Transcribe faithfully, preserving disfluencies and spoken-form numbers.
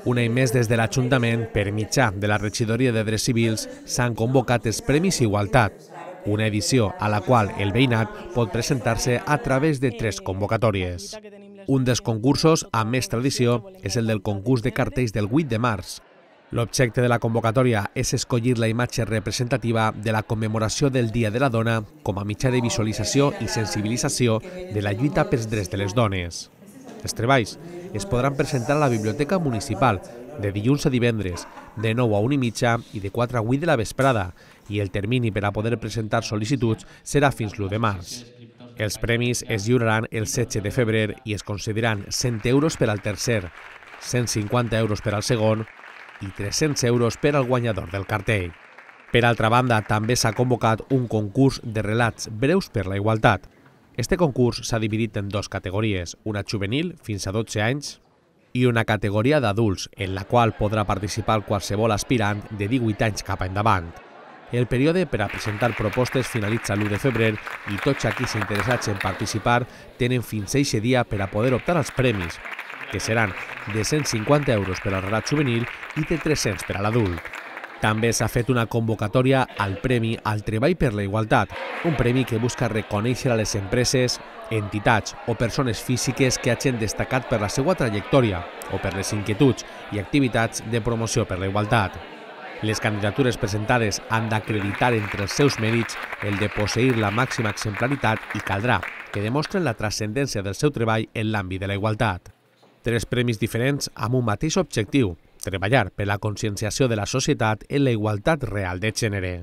Un any més des de l'Ajuntament, per mitjà de la Regidoria de Drets Civils, s'han convocat els Premis Igualtat, una edició a la qual el veïnat pot presentar-se a través de tres convocatòries. Un dels concursos amb més tradició és el del concurs de cartells del vuit de març. L'objecte de la convocatòria és escollir la imatge representativa de la commemoració del Dia de la Dona com a mitjà de visualització i sensibilització de la lluita pels drets de les dones. Els treballs es podran presentar a la Biblioteca Municipal de dilluns a divendres, de nou a una i mitja i de quatre a vuit de la vesprada, i el termini per a poder presentar sol·licituds serà fins l'u de març. Els premis es lliuraran el setze de febrer i es concediran cent euros per al tercer, cent cinquanta euros per al segon i tres-cents euros per al guanyador del cartell. Per altra banda, també s'ha convocat un concurs de relats breus per la igualtat. Este concurs s'ha dividit en dues categories, una juvenil, fins a dotze anys, i una categoria d'adults, en la qual podrà participar qualsevol aspirant de divuit anys cap endavant. El període per a presentar propostes finalitza l'u de febrer i tots aquells interessats en participar tenen fins a eixe dia per a poder optar als premis, que seran de cent cinquanta euros per al relat juvenil i de tres-cents per a l'adult. També s'ha fet una convocatòria al Premi al Treball per la Igualtat, un premi que busca reconèixer a les empreses, entitats o persones físiques que hagin destacat per la seva trajectòria o per les inquietuds i activitats de promoció per la igualtat. Les candidatures presentades han d'acreditar entre els seus mèrits el de posseir la màxima exemplaritat i caldrà que demostren la transcendència del seu treball en l'àmbit de la igualtat. Tres premis diferents amb un mateix objectiu: treballar per la conscienciació de la societat en la igualtat real de gènere.